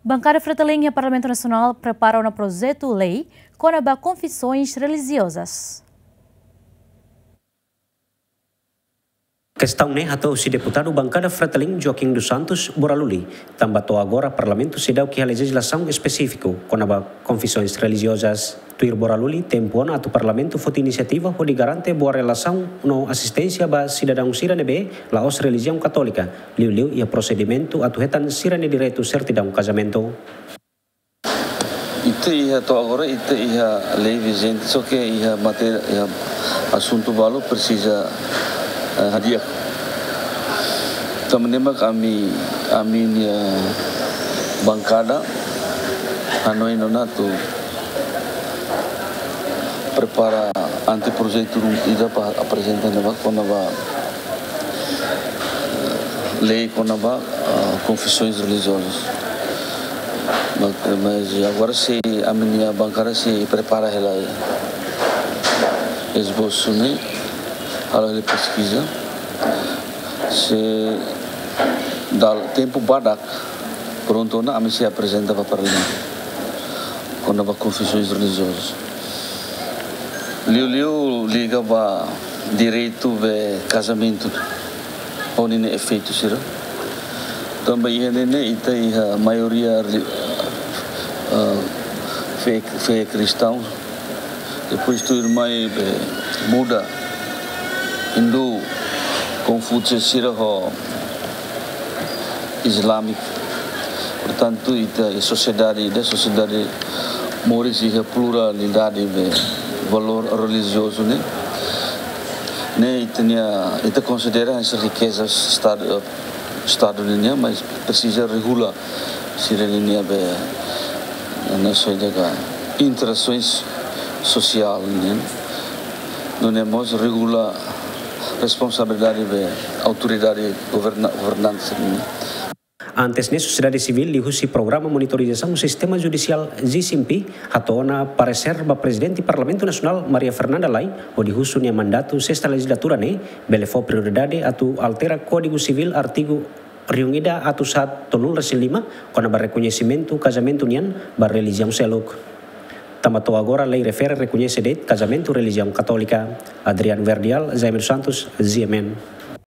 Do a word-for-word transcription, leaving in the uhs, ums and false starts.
Bankada Fretilin iha Parlamentu Nasionál prepara ona projetu lei kona-ba konfisoens relijiozas. Kestaun ne'e hato'o husi deputadu bankada Fretilin Joaquim dos Santos Boraluli, tanba to'o agora Parlamentu seidauk iha lejizlasaun espesífiku kona-ba konfisoens relijiozas. Tuir Boraluli, tempu ona atu Parlamentu foti inisiativa hodi garante boa relasaun no asisténsia ba sidadaun sira ne'ebé la'ós relijiaun Katólika, liuliu iha prosedimentu atu hetan sira-nia direitu sertidaun kazamentu. Ita iha to'o agora, ita iha lei vijente, só ke iha matéria, iha asuntu balu presiza, eh, hadi'a. Tanba ne'e mak ami, ami-nia bankada hanoin ona atu prepara anteprojetu ruma ida para aprezenta ne'ebá kona-ba lei kona-ba, ah, konfisoens relijiozas. Ma-, mas agora sei ami-nia bankada sei prepara hela esbosu ne'e, halo hela peskiza. Se dala tempu badak prontu ona, ami sei aprezenta ba Parlamentu kona-ba konfisoens relijiozas. Liuliu liga ba direitu ba kazamentu, ho ninia efeitu sira. Tanba iha ne'e ita iha maioria reli-, ah, fé, fé kristaun. Depois tuirmai be Buda, Hindu, Konfúsiu sira ho Islâmiku. Portantu, ita iha sosiedade, ita sosiedade moris iha pluralidade be valór relijiozu ne'e. Ne'e ita-nia, ita konsidera hanesan rikeza Estadu, Estadu nian, mas presiza regula sira-ninia be, ne'e só ida ka interasoens sosiál nian. Nune'e mós regula responsabilidade be autoridade governa-, governante nian. Antes ne'e, sosiedade sivíl liuhusi Programa Monitorizasaun Sistema Judisiál, G C M P, hato'o ona paresér ba Prezidente Parlamentu Nasionál, Maria Fernanda Lay, hodi husu nia mandatu sesta lejizlatura ne'e bele fó prioridade atu altera Kódigu Sivíl artigu rihun ida atus haat tolunulu resin lima, kona-ba rekoñesimentu kazamentu nian ba relijiaun seluk. Tanba to'o agora lei refere rekoñese de'it kazamentu relijiaun Katólika. Adrian Verdial, Jaime dos Santos, G M N.